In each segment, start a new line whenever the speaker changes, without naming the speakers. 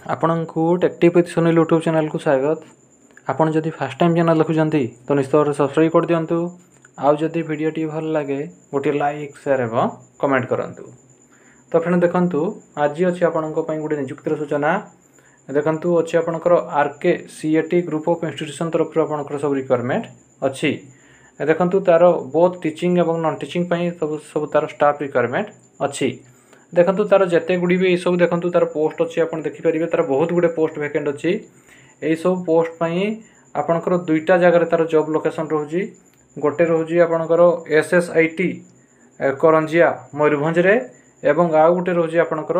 ଆପଣଙ୍କୁ ଟେକ୍ଟିଭ୍ with Sunil YouTube ଚ୍ୟାନେଲ୍କୁ ସ୍ୱାଗତ। ଆପଣ ଯଦି ଫାର୍ଷ୍ଟ ଟାଇମ୍ ଚ୍ୟାନେଲ୍ ଦେଖୁଛନ୍ତି, ତ ନିଶ୍ଚିତ ଭାବରେ ସବସ୍କ୍ରାଇବ୍ କରିଦିଅନ୍ତୁ। ଆଉ ଯଦି ଭିଡ଼ିଓଟି ଭଲ ଲାଗେ, ଗୋଟିଏ ଲାଇକ୍, ସେୟାର ଏବଂ କମେଣ୍ଟ କରନ୍ତୁ। ତ ଫ୍ରେଣ୍ଡ, ଦେଖନ୍ତୁ, ଆଜି ଅଛି ଆପଣଙ୍କ ପାଇଁ ଗୋଟେ ନିଯୁକ୍ତିର ସୂଚନା। ଦେଖନ୍ତୁ, ଅଛି ଆପଣଙ୍କର RK CAT group of institution ତରଫରୁ ଆପଣଙ୍କର ସବୁ ରିକ୍ୱାରମେଣ୍ଟ ଅଛି। ଦେଖନ୍ତୁ, ତା'ର ବୋଥ୍ ଟିଚିଂ ଏବଂ ନନ୍ ଟିଚିଂ ପାଇଁ ସବୁ ତା'ର ଷ୍ଟାଫ୍ ରିକ୍ୱାରମେଣ୍ଟ ଅଛି। ଦେଖନ୍ତୁ, ତା'ର ଯେତେ ଗୁଡ଼ିଏ ବି ଏଇସବୁ, ଦେଖନ୍ତୁ, ତା'ର ପୋଷ୍ଟ ଅଛି, ଆପଣ ଦେଖିପାରିବେ, ତା'ର ବହୁତ ଗୁଡ଼ିଏ ପୋଷ୍ଟ ଭ୍ୟାକେଣ୍ଟ ଅଛି। ଏଇସବୁ ପୋଷ୍ଟ ପାଇଁ ଆପଣଙ୍କର ଦୁଇଟା ଜାଗାରେ ତା'ର ଜବ୍ ଲୋକେସନ୍ ରହୁଛି। ଗୋଟେ ରହୁଛି ଆପଣଙ୍କର SSIT Karanjia, ମୟୂରଭଞ୍ଜରେ ଏବଂ ଆଉ ଗୋଟେ ରହୁଛି ଆପଣଙ୍କର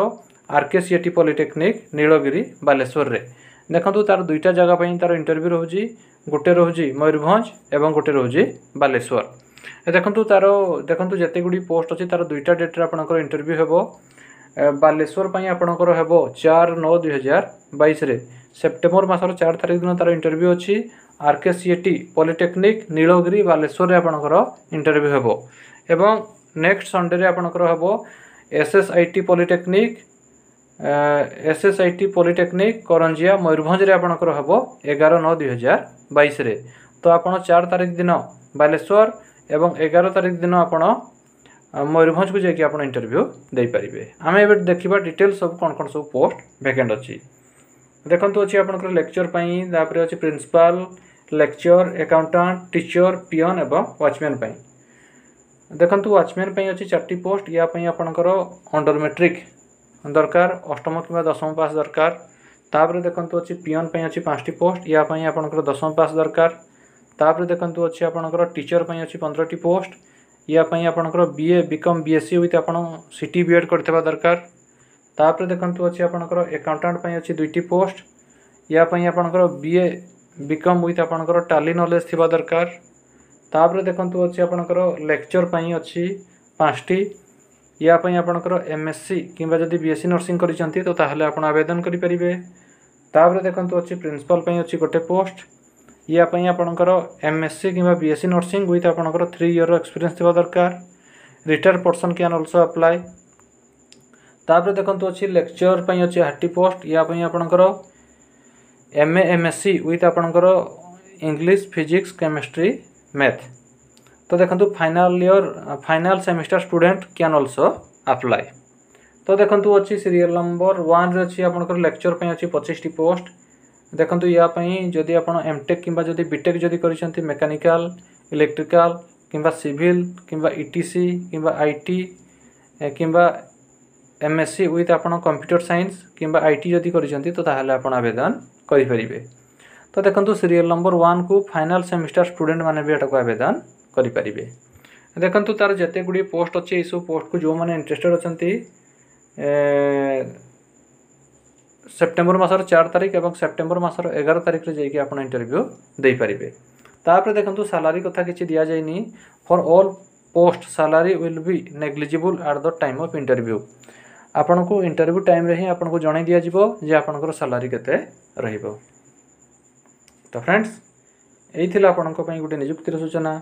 RK CAT polytechnic, Nilgiri, ବାଲେଶ୍ୱରରେ। ଦେଖନ୍ତୁ, ତା'ର ଦୁଇଟା ଜାଗା ପାଇଁ ତା'ର ଇଣ୍ଟରଭ୍ୟୁ ରହୁଛି। ଗୋଟେ ରହୁଛି ମୟୂରଭଞ୍ଜ ଏବଂ ଗୋଟେ ରହୁଛି ବାଲେଶ୍ୱର। ଦେଖନ୍ତୁ, ତା'ର ଦେଖନ୍ତୁ, ଯେତେ ଗୁଡ଼ିଏ ପୋଷ୍ଟ ଅଛି, ତା'ର ଦୁଇଟା ଡେଟ୍ରେ ଆପଣଙ୍କର ଇଣ୍ଟରଭ୍ୟୁ ହେବ। ବାଲେଶ୍ୱର ପାଇଁ ଆପଣଙ୍କର ହେବ 4/9/2022ରେ। ସେପ୍ଟେମ୍ବର ମାସର 4 ତାରିଖ ଦିନ ତା'ର ଇଣ୍ଟରଭ୍ୟୁ ଅଛି। RK CAT polytechnic, Nilgiri, ବାଲେଶ୍ୱରରେ ଆପଣଙ୍କର ଇଣ୍ଟରଭ୍ୟୁ ହେବ ଏବଂ ନେକ୍ସଟ ସଣ୍ଡେରେ ଆପଣଙ୍କର ହେବ SSIT polytechnic, Karanjia, ମୟୂରଭଞ୍ଜରେ ଆପଣଙ୍କର ହେବ 11/9/2022ରେ। ତ ଆପଣ 4 ତାରିଖ ଦିନ ବାଲେଶ୍ୱର ଏବଂ 11 ତାରିଖ ଦିନ ଆପଣ ମୟୂରଭଞ୍ଜକୁ ଯାଇକି ଆପଣ ଇଣ୍ଟରଭ୍ୟୁ ଦେଇପାରିବେ। ଆମେ ଏବେ ଦେଖିବା ଡିଟେଲ୍ସ ସବୁ, କ'ଣ କ'ଣ ସବୁ ପୋଷ୍ଟ ଭ୍ୟାକେଣ୍ଟ ଅଛି। ଦେଖନ୍ତୁ, ଅଛି ଆପଣଙ୍କର ଲେକ୍ଚର ପାଇଁ, ତାପରେ ଅଛି principal, lecturer, accountant, teacher, peon ଏବଂ ୱାଚମ୍ୟାନ୍ ପାଇଁ। ଦେଖନ୍ତୁ, ୱାଚମ୍ୟାନ୍ ପାଇଁ ଅଛି ଚାରିଟି ପୋଷ୍ଟ। ୟା ପାଇଁ ଆପଣଙ୍କର ଅଣ୍ଡର ମେଟ୍ରିକ୍ ଦରକାର, ଅଷ୍ଟମ କିମ୍ବା ଦଶମ ପାସ୍ ଦରକାର। ତାପରେ ଦେଖନ୍ତୁ, ଅଛି ପିଅନ୍ ପାଇଁ ଅଛି ପାଞ୍ଚଟି ପୋଷ୍ଟ। ୟା ପାଇଁ ଆପଣଙ୍କର ଦଶମ ପାସ୍ ଦରକାର। ତାପରେ ଦେଖନ୍ତୁ, ଅଛି ଆପଣଙ୍କର ଟିଚର ପାଇଁ ଅଛି 15ଟି ପୋଷ୍ଟ। ୟା ପାଇଁ ଆପଣଙ୍କର BA, BCom, BSc with ଆପଣ ସିଟି, ବି ଏଡ଼୍ କରିଥିବା ଦରକାର। ତାପରେ ଦେଖନ୍ତୁ, ଅଛି ଆପଣଙ୍କର ଆକାଉଣ୍ଟାଣ୍ଟ ପାଇଁ ଅଛି ଦୁଇଟି ପୋଷ୍ଟ। ୟା ପାଇଁ ଆପଣଙ୍କର ବିଏ, ବିକମ୍ ୱିଥ୍ ଆପଣଙ୍କର ଟାଲି ନଲେଜ୍ ଥିବା ଦରକାର। ତାପରେ ଦେଖନ୍ତୁ, ଅଛି ଆପଣଙ୍କର ଲେକ୍ଚର ପାଇଁ ଅଛି ପାଞ୍ଚଟି। ୟା ପାଇଁ ଆପଣଙ୍କର MSc କିମ୍ବା ଯଦି ବିଏସସି ନର୍ସିଂ କରିଛନ୍ତି, ତ ତାହେଲେ ଆପଣ ଆବେଦନ କରିପାରିବେ। ତାପରେ ଦେଖନ୍ତୁ, ଅଛି ପ୍ରିନ୍ସିପାଲ୍ ପାଇଁ ଅଛି ଗୋଟେ ପୋଷ୍ଟ। ୟା ପାଇଁ ଆପଣଙ୍କର MSc କିମ୍ବା ବିଏସସି ନର୍ସିଂ ୱିଥ୍ ଆପଣଙ୍କର 3 ଇୟର୍ର ଏକ୍ସପିରିଏନ୍ସ ଥିବା ଦରକାର। Retired person can also apply. ତାପରେ ଦେଖନ୍ତୁ, ଅଛି ଲେକ୍ଚର ପାଇଁ ଅଛି ଆଠଟି ପୋଷ୍ଟ। ୟା ପାଇଁ ଆପଣଙ୍କର MA, MSc with ଆପଣଙ୍କର ଇଂଲିଶ, ଫିଜିକ୍ସ, କେମିଷ୍ଟ୍ରି, ମ୍ୟାଥ୍। ତ ଦେଖନ୍ତୁ, final year, final semester student can also apply. ତ ଦେଖନ୍ତୁ, ଅଛି ସିରିଏଲ୍ ନମ୍ବର 1ରେ ଅଛି ଆପଣଙ୍କର ଲେକ୍ଚର ପାଇଁ ଅଛି 25ଟି ପୋଷ୍ଟ। ଦେଖନ୍ତୁ, ୟା ପାଇଁ ଯଦି ଆପଣ ଏମ୍ଟେକ୍ କିମ୍ବା ଯଦି ବିଟେକ୍ ଯଦି କରିଛନ୍ତି ମେକାନିକାଲ, ଇଲେକ୍ଟ୍ରିକାଲ କିମ୍ବା ସିଭିଲ୍ କିମ୍ବା ଇଟିସି କିମ୍ବା IT କିମ୍ବା ଏମଏସସି ୱିଥ୍ ଆପଣ କମ୍ପ୍ୟୁଟର ସାଇନ୍ସ କିମ୍ବା IT ଯଦି କରିଛନ୍ତି, ତ ତାହେଲେ ଆପଣ ଆବେଦନ କରିପାରିବେ। ତ ଦେଖନ୍ତୁ, ସିରିଏଲ୍ ନମ୍ବର 1କୁ ଫାଇନାଲ୍ ସେମିଷ୍ଟାର ଷ୍ଟୁଡେଣ୍ଟ ମାନେ ବି ଏଟାକୁ ଆବେଦନ କରିପାରିବେ। ଦେଖନ୍ତୁ, ତା'ର ଯେତେ ଗୁଡ଼ିଏ ପୋଷ୍ଟ ଅଛି, ଏଇସବୁ ପୋଷ୍ଟକୁ ଯେଉଁମାନେ ଇଣ୍ଟରେଷ୍ଟେଡ଼ ଅଛନ୍ତି, ସେପ୍ଟେମ୍ବର ମାସର 4 ତାରିଖ ଏବଂ ସେପ୍ଟେମ୍ବର ମାସର 11 ତାରିଖରେ ଯାଇକି ଆପଣ ଇଣ୍ଟରଭ୍ୟୁ ଦେଇପାରିବେ। ତାପରେ ଦେଖନ୍ତୁ, ସାଲାରୀ କଥା କିଛି ଦିଆଯାଇନି। For all post, salary will be negotiable at the time of interview. ଆପଣଙ୍କୁ ଇଣ୍ଟରଭ୍ୟୁ ଟାଇମ୍ରେ ହିଁ ଆପଣଙ୍କୁ ଜଣାଇ ଦିଆଯିବ ଯେ ଆପଣଙ୍କର ସାଲାରୀ କେତେ ରହିବ। ତ ଫ୍ରେଣ୍ଡସ୍, ଏଇ ଥିଲା ଆପଣଙ୍କ ପାଇଁ ଗୋଟେ ନିଯୁକ୍ତିର ସୂଚନା।